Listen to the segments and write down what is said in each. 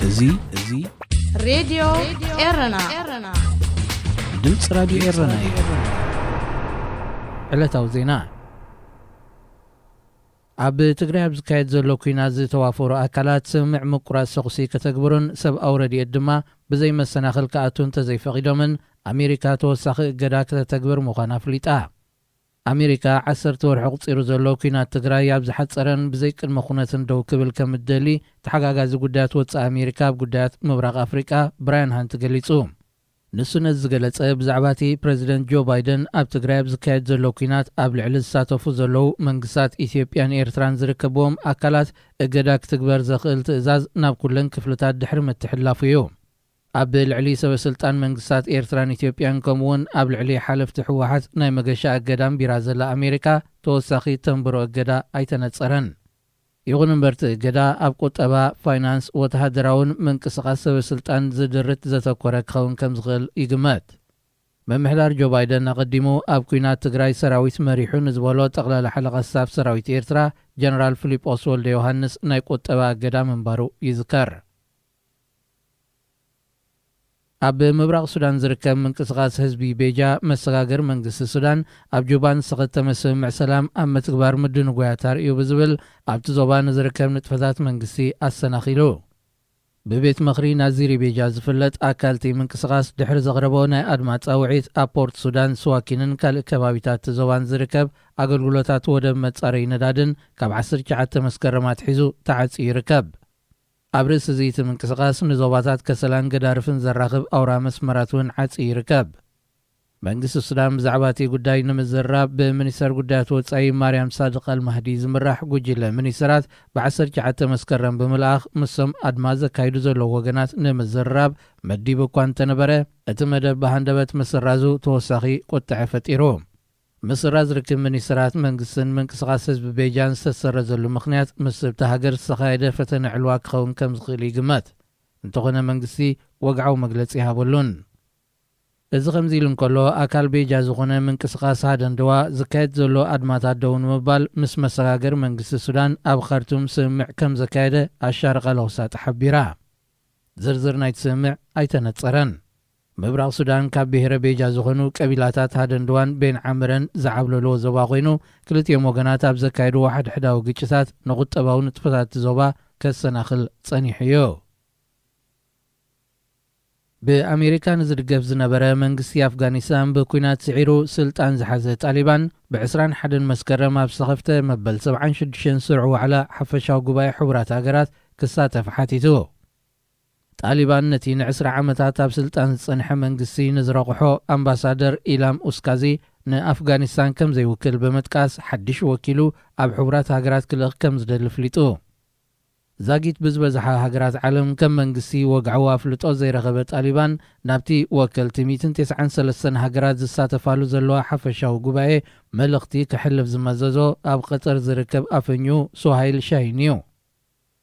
እዚ እዚ ሬድዮ ኤረና፣ ድምፂ ራዲዮ ኤረና እዩ። ዕለታዊ ዜና። ኣብ ትግራይ ኣብ ዝካየድ ዘሎ ኲናት ዝተዋፈሩ ኣካላት ስምምዕ ምቁራፅ ተኹሲ ከተግብሩን ሰብኣዊ ረድኤት ድማ ብዘይ መሰናኽል ክኣቱ እንተዘይፈቒዶምን ኣሜሪካ ተወሳኺ እገዳ ከተተግብር ምዃና ኣፍሊጣ። ኣሜሪካ ዓሰርተ ወርሒ ቁፂሩ ዘሎ ኲናት ትግራይ ኣብ ዝሓፀረን ብዘይ ቅድመ ኩነትን ደው ክብል ከም እትደሊ ተሓጋጋዚ ጉዳያት ወፃኢ ኣሜሪካ ኣብ ጉዳያት ምብራቕ ኣፍሪቃ ብራያን ሃንት ገሊፁ። ንሱ ነዚ ዝገለጸ ብዛዕባ እቲ ፕረዚደንት ጆ ባይደን ኣብ ትግራይ ኣብ ዝካየድ ዘሎ ኲናት ኣብ ልዕሊ ዝሳተፉ ዘለዉ መንግስታት ኢትዮጵያን ኤርትራን ዝርከብዎም ኣካላት እገዳ ክትግበር ዘኽእል ትእዛዝ ናብ ኩለን ክፍልታት ድሕሪ ምትሕልላፉ እዩ። ኣብ ልዕሊ ሰበ ስልጣን መንግስታት ኤርትራን ኢትዮጵያን ከምኡውን ኣብ ልዕሊ ሓለፍቲ ህወሓት ናይ መገሻ እገዳ ኣንቢራ ዘላ ኣሜሪካ ተወሳኺ ተንብሮ እገዳ ኣይተነጸረን። ይኹን እምበር እቲ እገዳ ኣብ ቁጠባ፣ ፋይናንስ፣ ወተሃደራውን ምንቅስቓስ ሰበ ስልጣን ዝድርት ዘተኮረ ክኸውን ከም ዝኽእል ይግመት። ምምሕዳር ጆ ባይደን ኣቐዲሙ ኣብ ኲናት ትግራይ ሰራዊት መሪሑ ንዝበሎ ጠቕላላ ሓለቓ ስታፍ ሰራዊት ኤርትራ ጀነራል ፊሊጶስ ወልደ ዮሃንስ ናይ ቁጠባ እገዳ ምንባሩ ይዝከር። ኣብ ምብራቕ ሱዳን ዝርከብ ምንቅስቓስ ህዝቢ ቤጃ መሰጋገር መንግስቲ ሱዳን ኣብ ጁባ ንዝተኸተመ ስምምዕ ሰላም ኣብ ምትግባር ምድንጓያት ኣርእዩ ብዝብል ኣብቲ ዞባ ንዝርከብ ንጥፈታት መንግስቲ ኣሰናኺሉ። ብቤት ምኽሪ ናዚሪ ቤጃ ዝፍለጥ ኣካል እቲ ምንቅስቓስ ድሕሪ ዘቕረቦ ናይ ኣድማ ጻውዒት ኣብ ፖርት ሱዳን ስዋኪንን ካልእ ከባቢታት እቲ ዞባን ዝርከብ ኣገልግሎታት ወደብ መጻረዪ ነዳድን ካብ ዓሰርተ ትሽዓተ መስከረም ኣትሒዙ ተዓጽዩ ይርከብ። ኣብ ርእሲ እዚ እቲ ምንቅስቓስ ንዞባታት ከሰላን ገዳርፍን ዘራኽብ ኣውራ መስመራት እውን ዓጽዩ ይርከብ። መንግስቲ ሱዳን ብዛዕባ እቲ ጉዳይ ንምዝርራብ ብሚኒስተር ጉዳያት ወጻኢ ማርያም ሳድቕ ኣልማህዲ ዝምራሕ ጉጅለ ሚኒስተራት ብ ዓሰርተ ትሽዓተ መስከረም ብምልኣኽ ምሶም ኣድማ ዘካይዱ ዘለዉ ወገናት ንምዝርራብ መዲቡ እኳ እንተነበረ እቲ መደብ ብሃንደበት ምስራዙ ተወሳኺ ቁጥዐ ፈጢሩ። ምስራዝ ርክብ ሚኒስተራት መንግስትን ምንቅስቓስ ህዝቢ ቤጃን ዝተሰረዘሉ ምኽንያት ምስ እብታ ሃገር ዝተኻየደ ፈተነ ዕልዋ ክኸውን ከም ዝኽእል ይግመት። እንተኾነ መንግስቲ ወግዓዊ መግለጺ ይሃበሉን። እዚ ከምዚ ኢሉ እንከሎ ኣካል ቤጃ ዝኾነ ምንቅስቓስ ሃደንደዋ ዝካየድ ዘሎ ኣድማታት ደው ንምባል ምስ መሰጋገር መንግስቲ ሱዳን ኣብ ካርቱም ስምምዕ ከም ዘካየደ ኣሻርቃ ለውሳጥ ሓቢራ። ዝርዝር ናይቲ ስምምዕ ኣይተነጸረን። ምብራቕ ሱዳን ካብ ብሔረ ቤጃ ዝኾኑ ቀቢላታት ሃደንድዋን ቤን ዓምረን ዝዓብለልዎ ዞባ ኮይኑ ክልቲኦም ወገናት ኣብ ዘካየድዎ ሓድሕዳዊ ግጭታት ንቁጠባዊ ንጥፈታት እቲ ዞባ ከሰናኽል ጸኒሑ እዩ። ብኣሜሪካ ንዝድገፍ ዝነበረ መንግስቲ ኣፍጋኒስታን ብኲናት ስዒሩ ስልጣን ዝሓዘ ጣሊባን ብ ዕስራን ሓደን መስከረም ኣብ ዝተኸፍተ መበል ሰብዓን ሽዱሽተን ስሩዕ ዋዕላ ሓፈሻዊ ጉባኤ ሕቡራት ሃገራት ክሳተፍ ሓቲቱ። ጣሊባን ነቲ ንዕስራ ዓመታት ኣብ ስልጣን ዝጸንሐ መንግስቲ ንዝረቑሖ ኣምባሳደር ኢላም ኡስካዚ ንኣፍጋኒስታን ከም ዘይውክል ብምጥቃስ ሓድሽ ወኪሉ ኣብ ሕቡራት ሃገራት ክልእኽ ከም ዝደሊ ኣፍሊጡ። ዛጊት ብዝበዝሓ ሃገራት ዓለም ከም መንግስቲ ወግዓዊ ኣፍልጦ ዘይረኸበ ጣሊባን ናብቲ ወከልቲ ሚእትን ተስዓን ሰለስተን ሃገራት ዝሳተፋሉ ዘለዋ ሓፈሻዊ ጉባኤ መልእኽቲ ከሕልፍ ዝመዘዞ ኣብ ቀጠር ዝርከብ ኣፈኙ ሱሃይል ሻሂን እዩ።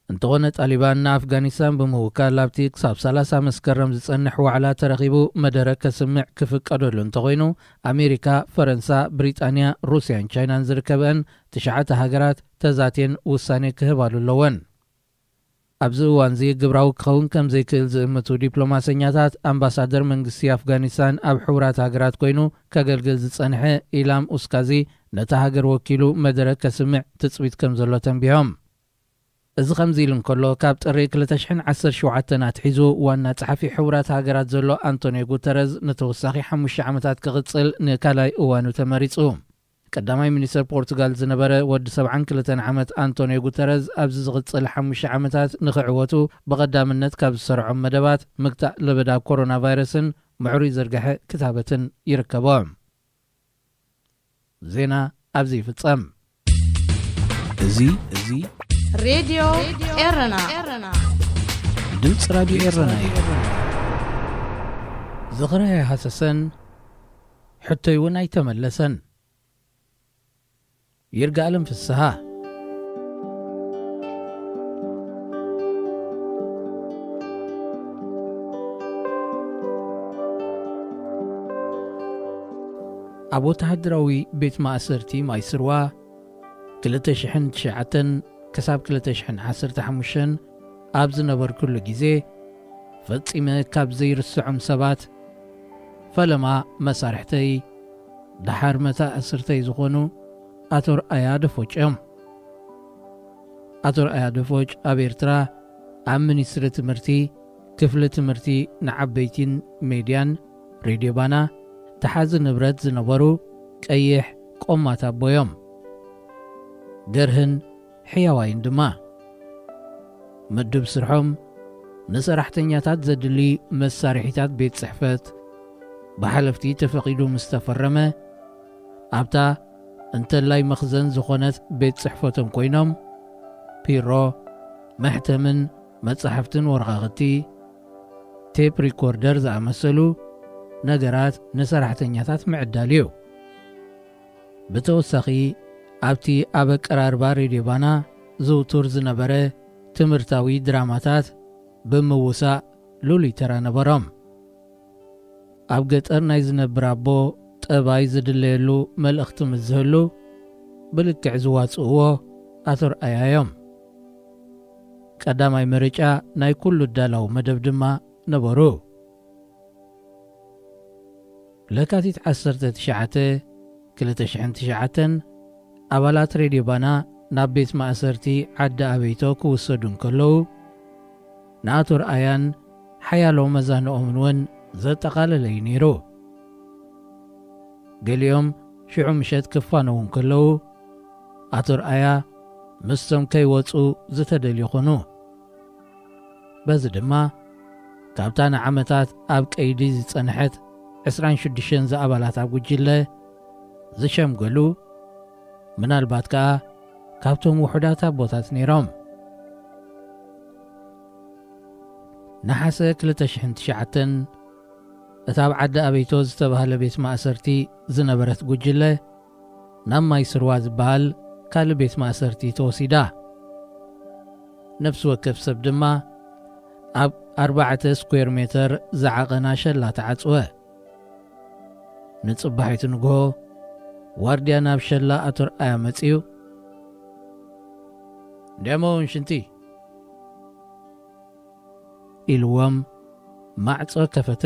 እንተኾነ ጣሊባን ንኣፍጋኒስታን ብምውካል ኣብቲ ክሳብ ሰላሳ መስከረም ዝጸንሕ ዋዕላ ተረኺቡ መደረ ከስምዕ ክፍቀደሉ እንተኾይኑ ኣሜሪካ፣ ፈረንሳ፣ ብሪጣንያ፣ ሩስያን ቻይናን ዝርከበአን ትሽዓተ ሃገራት ተዛትየን ውሳኔ ክህባሉ ኣለወን። ኣብዚ እዋንዚ ግብራዊ ክኸውን ከም ዘይክእል ዝእምቱ ዲፕሎማሰኛታት ኣምባሳደር መንግስቲ ኣፍጋኒስታን ኣብ ሕቡራት ሃገራት ኮይኑ ከገልግል ዝጸንሐ ኢላም ኡስካዚ ነታ ሃገር ወኪሉ መደረ ከስምዕ ትጽቢት ከም ዘሎ ተንቢሆም። እዚ ከምዚ ኢሉ እንከሎ ካብ ጥሪ ክልተ ሽሕን ዓሰርተ ሸውዓተን ኣትሒዙ ዋና ጸሓፊ ሕቡራት ሃገራት ዘሎ ኣንቶኒዮ ጉተረዝ ንተወሳኺ ሓሙሽተ ዓመታት ክቕጽል ንካልኣይ እዋኑ ተመሪጹ። ቀዳማይ ሚኒስተር ፖርቱጋል ዝነበረ ወዲ ሰብዓን ክልተን ዓመት ኣንቶኒዮ ጉተረዝ ኣብዚ ዝቕጽል ሓሙሽተ ዓመታት ንኽዕወቱ ብቐዳምነት ካብ ዝሰርዖም መደባት ምግታእ ለበዳ ኮሮና ቫይረስን ምዕሩይ ዝርግሐ ክታበትን ይርከቦ። ዜና ኣብዚ ይፍጸም። እዚ እዚ ሬድዮ ኤረና፣ ድምፂ ራዲዮ ኤረና እዩ። ዝኽሪ ኣይሃሰሰን፣ ሕቶይ እውን ኣይተመለሰን። ይርጋኣለም ፍስሃ። ኣብ ወተሃደራዊ ቤት ማእሰርቲ ማይስርዋ ክልተ ሽሕን ትሽዓተን ክሳብ ክልተ ሽሕን ዓሰርተ ሓሙሽተን ኣብ ዝነበርኩሉ ግዜ ፈጺመ ካብ ዘይርስዖም ሰባት፣ ፈለማ መሳርሕተይ፣ ደሓር መታእስርተይ ዝኾኑ ኣቶ ርኣያ ደፎጭ እዮም። ኣቶ ርኣያ ደፎጭ ኣብ ኤርትራ ኣብ ሚኒስትሪ ትምህርቲ፣ ክፍሊ ትምህርቲ ንዓበይቲን ሜድያን ሬድዮ ባና ተሓዚ ንብረት ዝነበሩ ቀይሕ ቆማት ኣቦ እዮም። ገርህን ሕያዋይን ድማ። ምድብ ስርሖም ንሰራሕተኛታት ዘድሊ መሳርሒታት ቤት ጽሕፈት ብሓለፍቲ ተፈቒዱ ምስ ተፈረመ፣ ኣብታ እንተላይ መኽዘን ዝኾነት ቤት ጽሕፈቶም ኮይኖም፣ ፒሮ፣ መሕተምን መጻሕፍትን ወረቓቕቲ፣ ቴፕ ሪኮርደር ዝኣመሰሉ ነገራት ንሰራሕተኛታት ምዕዳል እዩ። ብተወሳኺ፣ ኣብቲ ኣብ ኣቀራርባ ሬድዮ ባና ዝውቱር ዝነበረ ትምህርታዊ ድራማታት ብምውሳእ ልሉይ ተራ ነበሮም። ኣብ ገጠር ናይ ዝነብር ኣቦ ጠባይ ዝድለየሉ መልእኽቲ ምስ ዝህሉ፣ ብልክዕ ዝዋጽእዎ ኣቶ ርኣያ እዮም። ቀዳማይ ምርጫ ናይ ኩሉ ዳላዊ መደብ ድማ ነበሩ። ለካቲት ዓሰርተ ትሽዓተ፣ ክልተ ሽሕን ትሽዓተን፣ ኣባላት ሬድዮ ባና ናብ ቤት ማእሰርቲ ዓዲ ኣበይቶ ክውሰዱ እንከለዉ፣ ንኣቶ ርኣያን ሓያሎ መዛንኦምን እውን ዘጠቓለለ እዩ ነይሩ። ገሊኦም ሽዑ ምሸት ክፋነዉ እንከለዉ፣ ኣቶ ርኣያ ምስቶም ከይወጹ ዝተደልዩ ኾኑ። በዚ ድማ፣ ካብታ ንዓመታት ኣብ ቀይዲ ዝጸንሐት ዕስራን ሽዱሽተን ዝኣባላት ኣብ ጉጅለ ዝሸምገሉ፣ ምናልባት ከኣ ካብቶም ውሑዳት ኣቦታት ነይሮም። ነሓሰ ክልተ ሽሕን ትሽዓተን፣ እታ ኣብ ዓዲ ኣበይቶ ዝተባህለ ቤት ማእሰርቲ ዝነበረት ጉጅለ፣ ናብ ማይ ስርዋ ዝበሃል ካልእ ቤት ማእሰርቲ ተወሲዳ። ነፍሲ ወከፍ ሰብ ድማ ኣብ ኣርባዕተ ስኩዌር ሜተር ዝዓቐና ሸላ ተዓጽወ። ንጽባሒቱ ንግሆ፣ ዋርድያ ናብ ሸላ ኣቶ ርኣያ መጺኡ፣ "እንዲያሞ እውን ሽንቲ?" ኢልዎም ማዕጾ ከፈተ።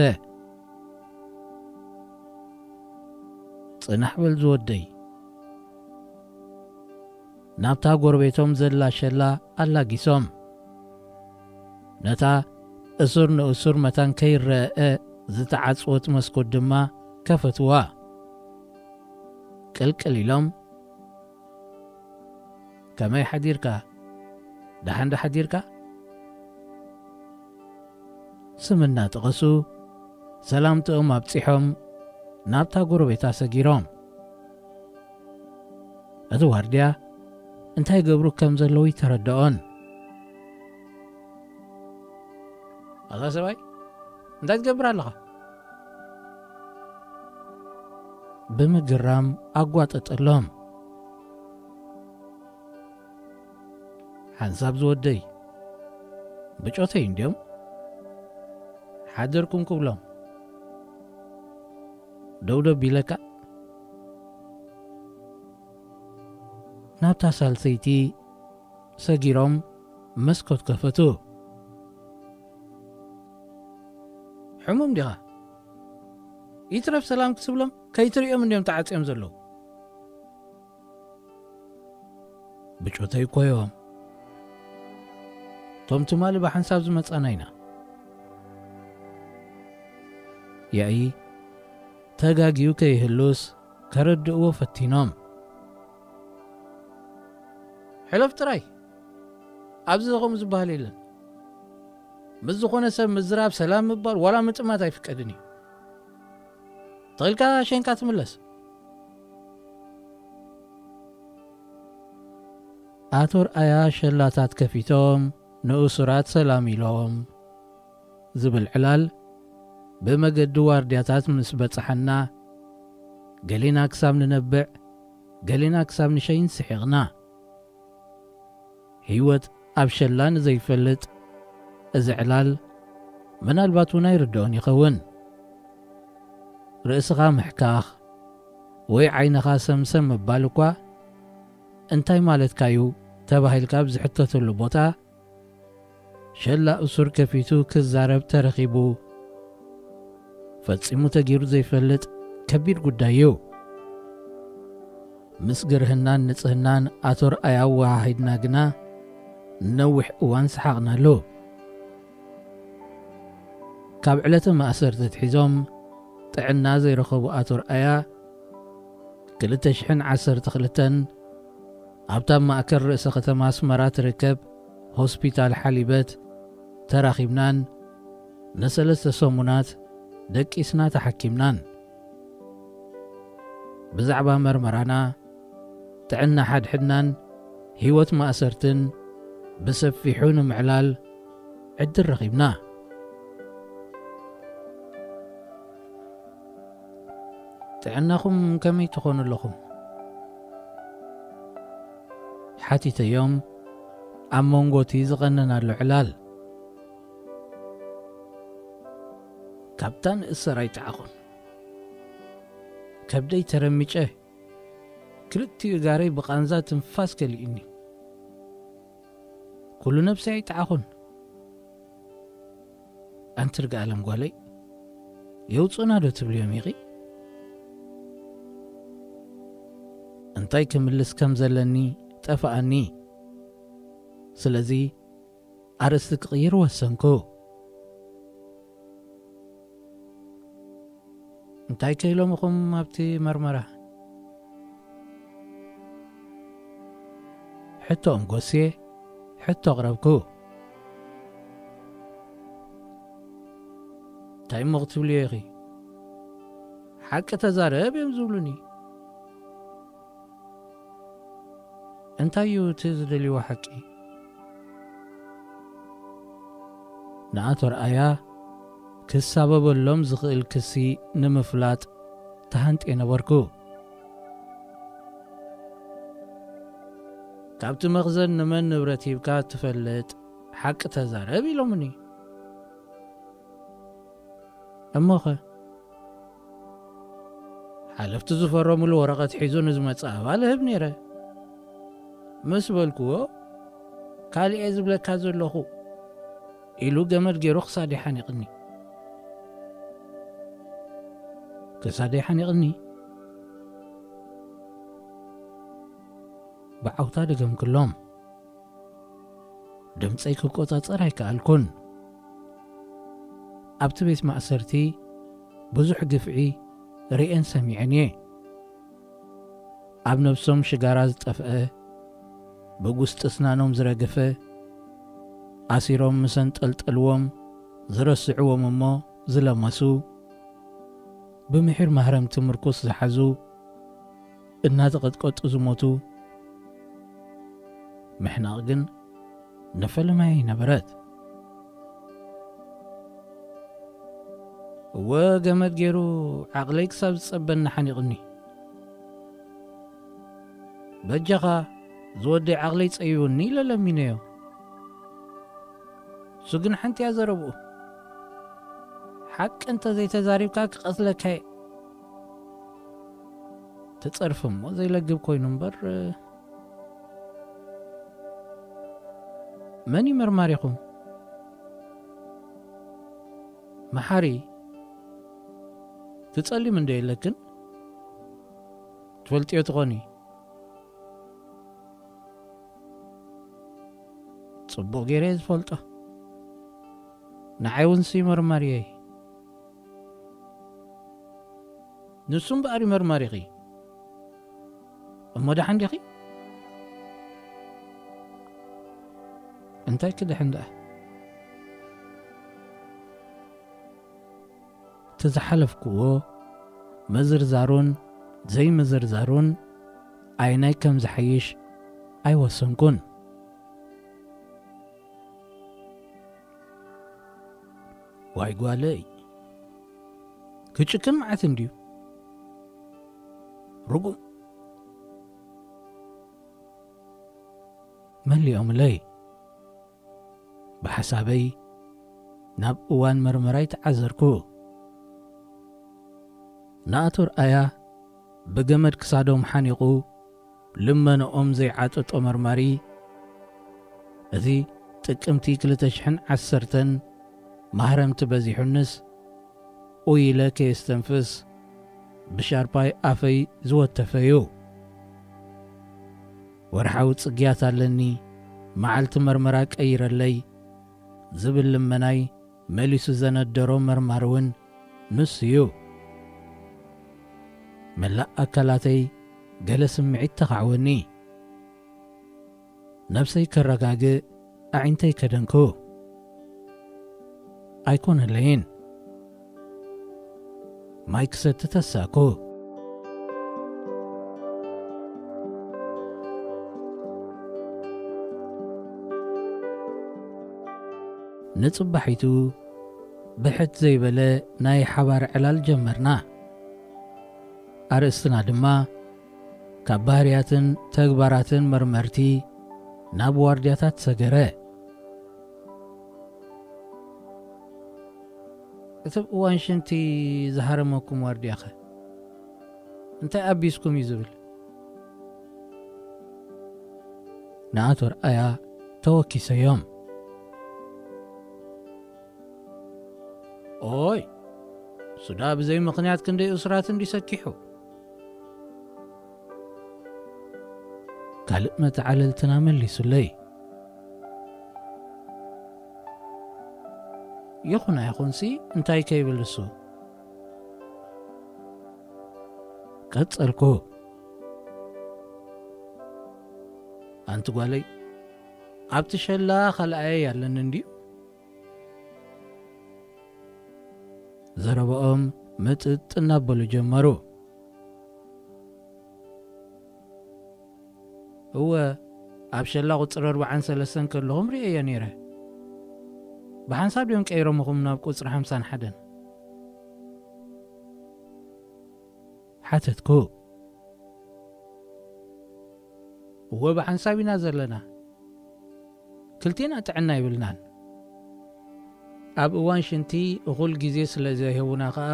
"ጽናሕ በል ዝወደይ." ናብታ ጎረቤቶም ዘላ ሸላ ኣላጊሶም፣ ነታ እሱር ንእሱር መታን ከይረአ ዝተዓጽወት መስኮት ድማ ከፈትዋ። ቅልቅል ኢሎም፣ "ከመይ ሓዲርካ? ደሓን ዶ ሓዲርካ?" ስም እናጠቐሱ ሰላምትኦም ኣብጺሖም ናብታ ጎረቤታ ሰጊሮም። እቲ ዋርድያ እንታይ ገብሩ ከም ዘለዉ ይተረድኦን። "ኣታ ሰብኣይ፣ እንታይ ትገብር ኣለኻ?" ብምግራም ኣጓጠጠሎም። "ሓንሳብ ዝወደይ፣ ብጮተይ እንድዮም ሓደርኩም ክብሎም። ደው ደው ቢለካ?" ናብታ ሳልሰይቲ ሰጊሮም መስኮት ከፈቱ። "ሕሙም ዲኻ? ይትረፍ ሰላም ክትብሎም ከይትርእዮም እንድዮም ተዓጽዮም ዘለዉ። ብጮተይ እኮ እዮም። እቶም ትማሊ ብሓንሳብ ዝመጻና ኢና።" ያኢ ተጋግዩ ከይህሉስ ከረድእዎ ፈቲኖም። "ሕለፍ ጥራይ፣ ኣብዚ ከምኡ ዝበሃል የለን። ምስ ዝኾነ ሰብ ምዝራብ፣ ሰላም ምባል፣ ዋላ ምጥማት ኣይፍቀድን እዩ። ተኺልካ ሸንካ ትምለስ።" ኣቶ ርኣያ ሸላታት ከፊቶም ንእሱራት ሰላም ኢሎም ዝብል ዕላል ብመገዲ ዋርድያታት ምስ በጽሓና፣ ገሌና ክሳብ ንነብዕ፣ ገሌና ክሳብ ንሸይን ስሒቕና። ህይወት ኣብ ሸላ ንዘይፈልጥ እዚ ዕላል ምናልባት እውን ኣይርድኦን ይኸውን። ርእስኻ ምሕካኽ ወይ ዓይንኻ ሰምሰም ምባል እኳ እንታይ ማለትካ እዩ ተባሂልካ ኣብ ዝሕተተሉ ቦታ፣ ሸላ እሱር ከፊቱ ክዛረብ ተረኺቡ። ፈጺሙ ተጊሩ ዘይፈልጥ ከቢድ ጉዳይ እዩ። ምስ ግርህናን ንጽህናን ኣቶ ርኣያ ኣወሃሂድና ግና ነዊሕ እዋን ሰሓቕናሉ። ካብ ዕለተ ማእሰርቲ ኣትሒዞም ጥዕና ዘይረኸቡ ኣቶ ርኣያ፣ ክልተ ሽሕን ዓሰርተ ክልተን ኣብታ ማእከል ርእሰ ከተማ ኣስመራ ትርከብ ሆስፒታል ሓሊበት ተራኺብናን ንሰለስተ ሰሙናት ደቂስና ተሓኪምናን። ብዛዕባ መርመራና፣ ጥዕና ሓድሕድናን ህይወት ማእሰርትን ብሰፊሑ ንምዕላል ዕድል ረኺብና። "ጥዕናኹም ከመይ ትኾኑ ኣለኹም?" ሓቲተዮም ኣብ መንጎ እቲ ዝቐነናሉ ዕላል። ካብታ ንእሰር ኣይጠዓኹን። ከብደይ ተረሚጨ፣ ክልቲኡ እጋረይ ብቓንዛ ትንፋስ ከሊኡኒ። ኩሉ ነብሰይ ኣይጠዓኹን። ኣንቲ ርግኣለም ጓለይ፣ የውፅኡና ዶ ትብልዮም ኢኺ? እንታይ ክምልስ ከም ዘለኒ ጠፍኣኒ። ስለዚ ኣርእስቲ ክቕይር ወሰንኩ። እንታይ ከ ኢሎም ኢኹም ኣብቲ መርመራ? ሕቶኦም ጎስየ ሕቶ ኣቕረብኩ። እንታይ እሞ ክትብልዮ ኢኺ? ሓቂ ተዛረብ እዮም ዝብሉኒ። እንታይ እዩ እቲ ዝደልይዎ ሓቂ? ንኣቶ ርኣያ ክሳበበሎም ዝኽእል ክሲ ንምፍላጥ ተሃንጥየ ነበርኩ። ካብቲ መኽዘን ንመን ንብረት ሂብካ ትፈልጥ? ሓቂ ተዛረብ ኢሎምኒ። እሞኸ? ሓለፍቲ ዝፈረሙሉ ወረቐት ሒዙ ንዝመጽእ ኣባል እህብ ነይረ። ምስ በልክዎ፣ "ካልእ እየ ዝብለካ ዘለኹ" ኢሉ ገመድ ገይሩ ክሳደይ ሓኒቕኒ። ክሳደይ ሓኒቕኒ? ብዓውታ ደገምክሎም። ድምፀይ ክቆፃፀር ኣይከኣልኩን። ኣብቲ ቤት ማእሰርቲ ብዙሕ ግፍዒ ርእየን ሰሚዐን እየ። ኣብ ነብሶም ሽጋራ ዝጠፍአ፣ ብጉስጢ ስናኖም ዝረገፈ፣ ኣሲሮም ምስ ኣንጠልጠልዎም ዝረስዕዎም እሞ ዝለመሱ፣ ብምሒር ማህረምቲ ምርኩስ ዝሓዙ፣ እናተቐጥቀጡ ዝሞቱ፣ ምሕናቕ ግን ንፈለማይ ነበረት። እወ፣ ገመድ ገይሩ ዓቕለይ ክሳብ ዝጸበኒ ሓኒቕኒ። "በጃኻ፣ ዝወደይ ዓቕለይ ጸቢቡኒ" ኢለ ለሚነዮ። እሱ ግን ሓንቲ እያ ዘረብኡ። "ሓቂ እንተ ዘይተዛሪብካ ክቐትለካ እየ" ተጸርፊ እሞ ዘይለግብ ኮይኑ እምበር፣ መን እዩ መርማሪኹም? መሓሪ፣ ትጸሊም እንዶ የለክን? ትፈልጥዮ ትኾኒ? ጽቡቕ ገይረ እየ ዝፈልጦ። ንዓይ እውን ሲ መርማሪየይ። ንሱ እምበኣር እዩ መርማሪኺ። እሞ ደሓን ዲኺ? እንታይ ክድሕን ደኣ? እቲ ዝሓለፍክዎ ምዝርዛሩን ዘይምዝርዛሩን ኣየናይ ከም ዝሓይሽ ኣይወሰንኩን። ዋይ ጓለይ፣ ክጭክን መዓት እንድዩ። ርጉም። መሊኦምለይ። ብሓሳበይ ናብ እዋን መርመራይ ተዓዘርኩ። ንኣቶ ርኣያ ብገመድ ክሳዶም ሓኒቑ ልመንኦም ዘይዓጠጦ መርማሪ፣ እዚ ጥቅምቲ ክልተ ሽሕን ዓሰርተን ማህረምቲ በዚሑንስ፣ ኡይ ኢለ ከየስተንፍስ ብሻርፓይ ኣፈይ ዝወተፈ እዩ። ወርሓዊ ጽግያት ኣለኒ፣ መዓልቲ መርመራ ቀይረለይ ዝብል ልመናይ መሊሱ ዘነደሮ መርማሪ እውን ንሱ እዩ። መላእ ኣካላተይ ገለ ስምዒት ተኻዕወኒ። ነብሰይ ከረጋግእ ኣዒንተይ ከደንኩ። ኣይኮነለይን። ማይ ክሰቲ ተሳኩ። ንጽባሒቱ ብሕት ዘይበለ ናይ ሓባር ዕላል ጀመርና። ኣርእስትና ድማ ካብ ባህርያትን ተግባራትን መርመርቲ ናብ ዋርድያታት ሰገረ። እቲ እዋን ሽንቲ ዝሃረመኩም ዋርድያኸ እንታይ ኣቢስኩም እዩ ዝብል? ንኣቶ ርኣያ ተወኪሰዮም። ኦይ፣ ሱዳ ብዘይ ምኽንያት ክንደይ እሱራት እንዲ ሰኪሑ። ካልእ መተዓለልትና መሊሱለይ። ይኹን ኣይኹንሲ እንታይ ከይብል እሱ። ቀጸልኩ። ኣንቲ ጓለይ፣ ኣብቲ ሸላ ካልኣየይ ኣለኒ እንድዩ? ዘረባኦም ምጥጥ እናበሉ ጀመሩ። እወ፣ ኣብ ሸላ ቁጽሪ ኣርባዓን ሰለስተን ከለኹም ርእየዮ ነይረ። ብሓንሳብ ድዮም ቀይሮምኹም ናብ ቁጽሪ ሓምሳን ሓደን? ሓተትኩ። እወ፣ ብሓንሳብ ኢና ዘለና። ክልቴና ጥዕና ይብልናን። ኣብ እዋን ሽንቲ እኹል ግዜ ስለ ዘይህቡና ኸኣ፣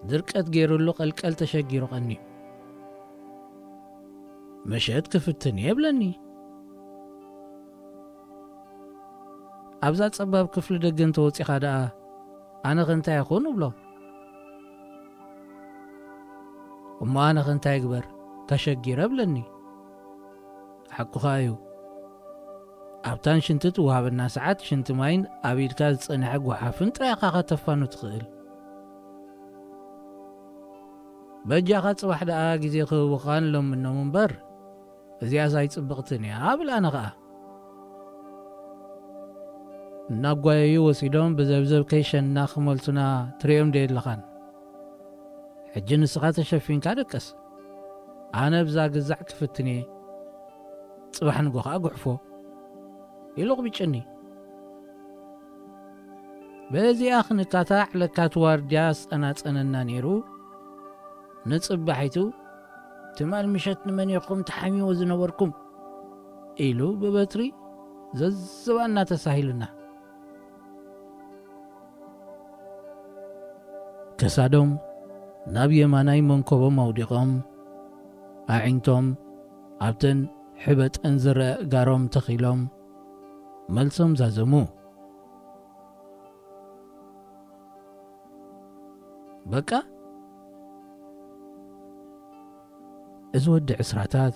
ድርቀት ገይሩሉ ቀልቀል ተሸጊሩ ቀንዩ። ምሸት ክፍትን እየ ይብለኒ። ኣብዛ ጸባብ ክፍሊ ደገ እንተወጺኻ ደኣ፣ ኣነ ኸ እንታይ ይኹን እብሎ። እሞ ኣነ ኸ እንታይ ይግበር? ተሸጊረ እብለኒ። ሓቁኻ እዩ። ኣብታን ሽንቲ ትወሃበና ሰዓት ሽንቲ ማይን ኣብ ኢድካ ዝጸንሐ ጓሓፍን ጥራይ ኢኻ ከተፋኑ ትኽእል። በጃኻ ጽባሕ ደኣ ግዜ ክህቡኻን ለምኖም እምበር፣ እዚኣስ ኣይጽብቕትን እያ፣ እብል ኣነ ኸኣ። እናጓየዩ ወሲዶም ብዘብዘብ ከይሸንና ክመልሱና ትርእዮም ዶ የለኻን? ሕጂ ንስኻ ተሸፊንካ ደቅስ። ኣነ ብዛ ግዛዕ ክፍትን እየ። ጽባሕ ንጎ ኸኣ ጉሕፎ። ኢሉ ኣቕቢጭኒ። በዚኣ ክንካታዕ ለካቲ ዋርድያ ዝጸናጸነና ነይሩ። ንጽባሒቱ፣ "ትማል ምሸት ንመን ኢኹም ተሓሚዎ ዝነበርኩም?" ኢሉ ብበትሪ ዘዝባና ተሳሂሉና። ከሳዶም ናብ የማናይ መንኮቦም ኣውዲቖም፣ ኣዒንቶም ኣብተን ሕበጠን ዝረአ እጋሮም ተኺሎም፣ መልሶም ዛዘሙ። በቃ፣ እዚ ወዲ ዕስራታት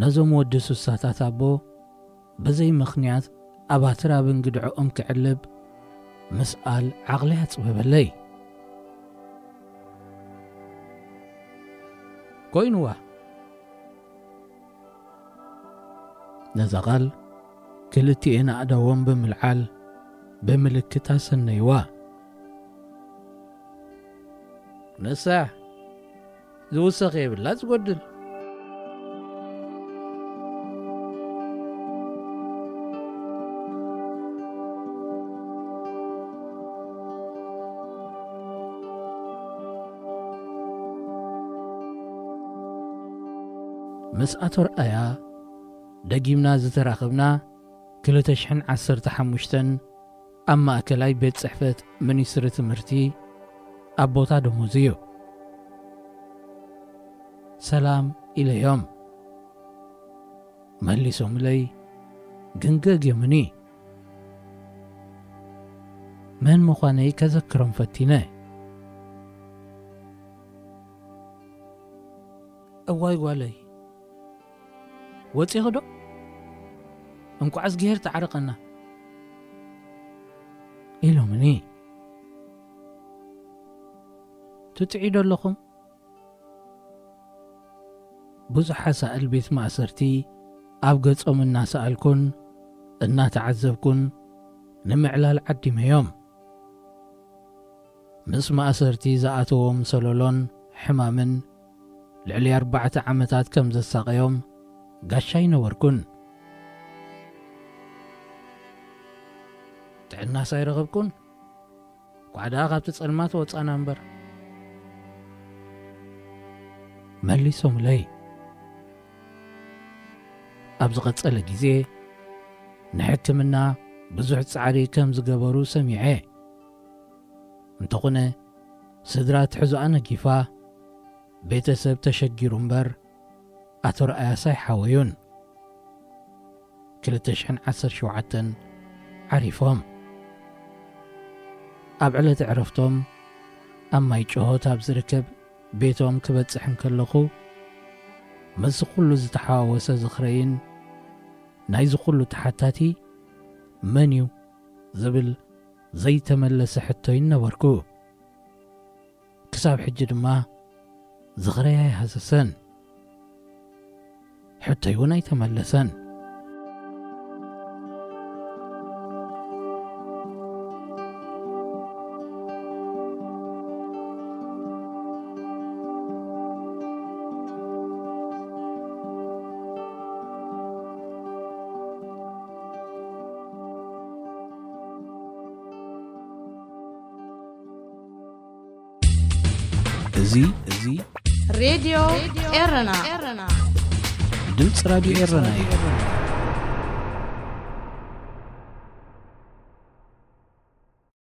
ነዞም ወዲ ሱሳታት ኣቦ ብዘይ ምኽንያት ኣባትር ኣብ እንግድዕኦም ክዕልብ ምስኣል ዓቕሊ ኣጽበበለይ። ኮይንዋ። ነዛ ቓል ክልቲኤን ኣእዳዎም ብምልዓል ብምልክት ኣሰነይዋ። ንሳ ዝውሰኽ የብላ ዝጎድል። ምስ ኣቶ ርኣያ ደጊምና ዝተራኸብና ክልተ ሽሕን ዓሰርተ ሓሙሽተን ኣብ ማእከላይ ቤት ጽሕፈት ሚኒስትሪ ትምህርቲ ኣብ ቦታ ደሞዙ እዩ። ሰላም ኢለዮም። መሊሶምለይ ግን ገግዮምኒ። መን ምዃነይ ከዘክሮም ፈቲነ። እዋይ ጓለይ፣ ወጺኺ ዶ? እንቋዕ እዝግሄር ተዓረቐና ኢሎምኒ። ትጥዒ ዶ ኣለኹም? ብዙሕ ሓሳእል ቤት ማእሰርቲ ኣብ ገጾም እናሰኣልኩን እናተዓዘብኩን ንምዕላል ዓዲመዮም። ምስ ማእሰርቲ ዝኣተዎም ሰለሎን ሕማምን ልዕሊ ኣርባዕተ ዓመታት ከም ዘሳቐዮም ጋሻ ኣይነበርኩን። ጥዕናስ ኣይረኸብኩን? ኳዕ ደኣ ካብቲ ጸልማት ወጻና እምበር፣ መሊሶምለይ። ኣብ ዝቐጸለ ግዜ ንሕክምና ብዙሕ ጻዕሪ ከም ዝገበሩ ሰሚዐ። እንተኾነ፣ ስድራ ትሕዞኣ ነጊፋ፣ ቤተሰብ ተሸጊሩ እምበር፣ ኣቶ ረኣያስ ኣይሓወዩን። ክልተ ሽሕን ዓሰርተ ሸውዓተን ዓሪፎም። ኣብ ዕለተ ዕረፍቶም ኣብ ማይ ጭሆት ኣብ ዝርከብ ቤቶም ክበጽሕ እንከለኹ፣ ምስዚ ኩሉ ዝተሓዋወሰ ዝኽረይን ናይዚ ኩሉ ተሓታቲ መን እዩ ዝብል ዘይተመለሰ ሕቶይን ነበርኩ። ክሳብ ሕጂ ድማ ዝኽረይ ኣይሃሰሰን። ሕቶይ እውን ኣይተመለሰን። እዚ እዚ ሬድዮ ኤረና፣ ድምፂ ራድዮ ኤረና እዩ።